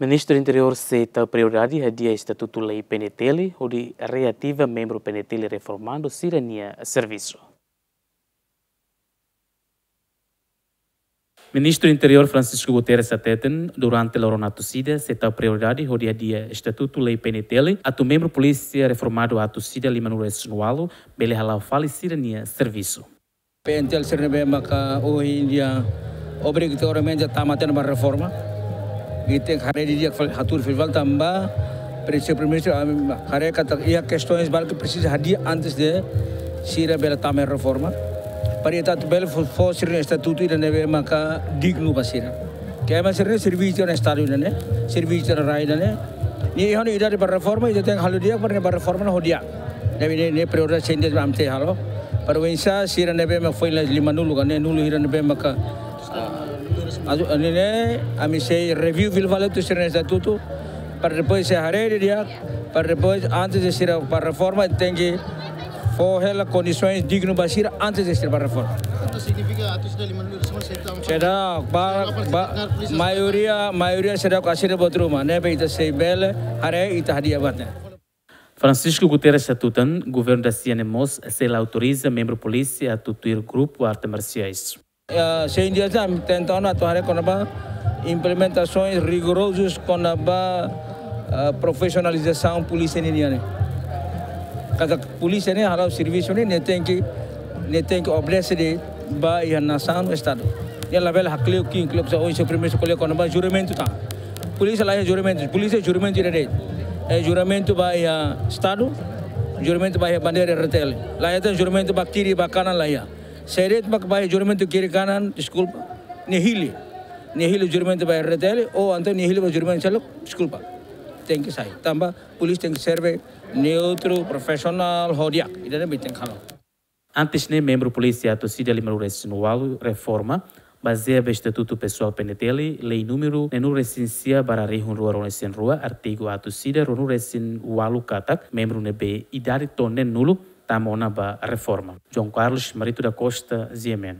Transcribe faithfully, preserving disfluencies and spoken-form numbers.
Ministru Interiór sei tau prioridade hadi'a estatutu lei P N T L hodi reativa membru P N T L reformadu sira-nia servisu. Ministru Interiór Francisco Guterres hateten, durante loron atus ida sei tau prioridade hodi hadi'a estatutu lei P N T L, atu membru polísia reformadu atus ida limanulu-resin-ualu bele hala'o fali sira-nia servisu. P N T L sira ne'ebé maka ohin dia obrigatoriamente tama tiha ona ba reforma. Ita haree didi'ak fali, hatudu fila fali tanba Presi-, Primeiru-Ministru, ami haree katak iha kestaun balu ke presiza hadi'a antes de sira bele tama iha reforma. Para ita atu bele fó, fó sira-nia estatutu ida ne'ebé maka dignu ba sira. Ke ema sira ne'e servisu ona Estadu ida-ne'e, servisu ona rai ida-ne'e. Nia iha ona idade ba reforma, ita tenke halo di'ak para nia ba reforma ona ho di'ak. Ne'ebé ne'e, ne'e prioridade sendiri ami sei halo. Para oinsá sira ne'ebé mak foin la limanulu ka neenulu hira ne'ebé maka, ah, atu, ne'e ne'e, ami sei review fila fali atu sira-nia estatutu. Para depois sei haree didi'ak, para depois antes de sira ba reforma tenke fó hela kondisaun dignu ba sira antes de sira ba reforma. Entaun signifika atus ida limanulu-resin-ualu sei tau? Seidauk, ba, sei tau ba, polísia, maioria, maioria seidauk asina buat ruma, ne'ebé ita sei bele haree, ita hadi'a buat ne'e. Francisco Guterres hatutan, governu da ASEAN mós sei la autoriza membru polísia atu tuir grupu arte marsiais. Ya, sei di'ak, ami tenta ona atu haree kona-ba implementasaun rigorozus kona-ba, ah, profisionalizasaun polísia ninian ne'e. Katak polísia ne'e hala'o servisu ne'e, nia tenke, nia tenke obedese de'it ba iha nasaun, Estadu. Nia labele hakle'uk ki'ik, klok sa oin se primeiru ko'alia kona-ba juramentu tan. Polísia la iha juramentu, polísia juramentu ida de'it. Eh, juramentu ba iha Estadu, juramentu ba iha bandeira R T L. La iha tan juramentu ba kiri ba kanan, la iha. Se de'it mak ba iha juramentu kiri kanan, deskulpa. Nia hili. Nia hili juramentu ba R T L, ou entaun nia hili ba juramentu seluk, deskulpa. Tenke sai. Tanba polísia tenke serve neutru, profisionál, ho di'ak. Ida-ne'e mak ita tenke halo. Antes ne'e membru polísia atus ida limanulu-resin-ualu reforma, bazeia ba estatutu pesoál P N T L, lei númeru neenulu-resin-sia barra rihun rua ruanulu-resin-rua, artigu atus ida ruanulu-resin-ualu katak, membru ne'ebé idade to'o neenulu, tama ona ba reforma. João Carlos Marito da Costa, G M N.